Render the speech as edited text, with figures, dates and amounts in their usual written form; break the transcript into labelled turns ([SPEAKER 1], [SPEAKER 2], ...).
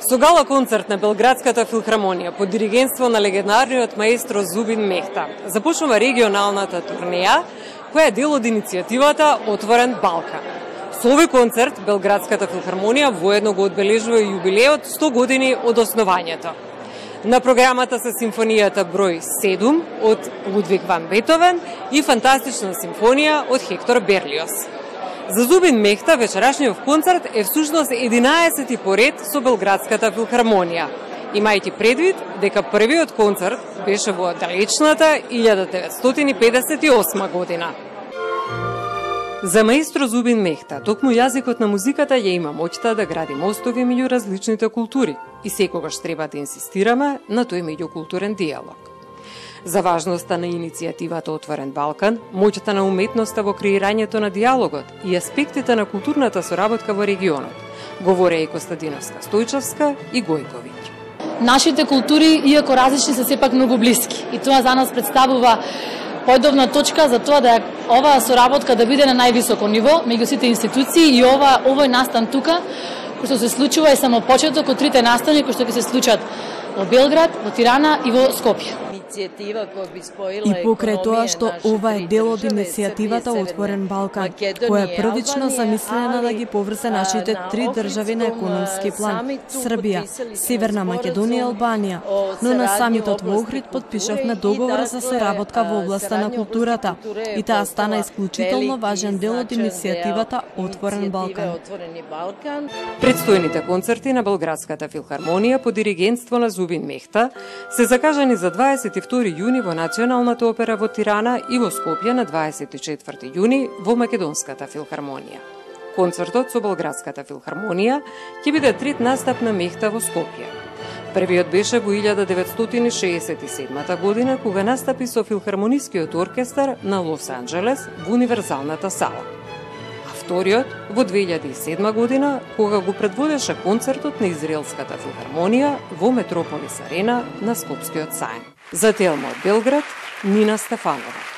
[SPEAKER 1] Со гала концерт на Белградската филхармонија под диригентство на легендарниот маестро Зубин Мехта започнува регионалната турнеја, која е дел од иницијативата Отворен Балкан. Со овој концерт Белградската филхармонија воедно го одбележува јубилеот 100 години од основањето. На програмата се симфонијата број 7 од Лудвиг ван Бетовен и фантастична симфонија од Хектор Берлиоз. За Зубин Мехта вечерашниот концерт е всушност 11-ти поред со Белградската филхармонија, имајќи предвид дека првиот концерт беше во далечната 1958 година. За маестро Зубин Мехта, токму јазикот на музиката ја има моќта да гради мостови меѓу различните култури и секогаш треба да инсистираме на тој меѓукултурен диалог. За важноста на иницијативата Отворен Балкан, моќта на уметноста во креирањето на диалогот и аспектите на културната соработка во регионот, говореа и Костадиновска Стојчевска и Гојковиќ.
[SPEAKER 2] Нашите култури, иако различни, се сепак многу блиски и тоа за нас представува појдовна точка за тоа да оваа соработка да биде на највисоко ниво меѓу сите институции и овој настан тука, кој што се случува е само почеток од трите настани кои што ќе се случат во Белград, во Тирана и во Скопје.
[SPEAKER 3] И покрај тоа што ова е дел од иницијативата Отворен Балкан, која е првично замислена да ги поврзе нашите три држави на економски план – Србија, Северна Македонија и Албанија, но на самитот во Охрид подпишавме договор за соработка во областа на културата и таа стана исклучително важен дел од иницијативата Отворен Балкан.
[SPEAKER 1] Предстојните концерти на Белградската филхармонија под диригентство на Зубин Мехта се закажани за 22 јуни во Националната опера во Тирана и во Скопје на 24 јуни во Македонската филхармонија. Концертот со Белградската филхармонија ќе биде трет настап на Мехта во Скопје. Првиот беше во 1967 година, кога настапи со филхармонискиот оркестар на Лос Анџелес во Универзалната сала. А вториот во 2007 година, кога го предводеше концертот на Израелската филхармонија во Метрополис Арена на Скопскиот саем. За Телма од Белград, Нина Стефанова.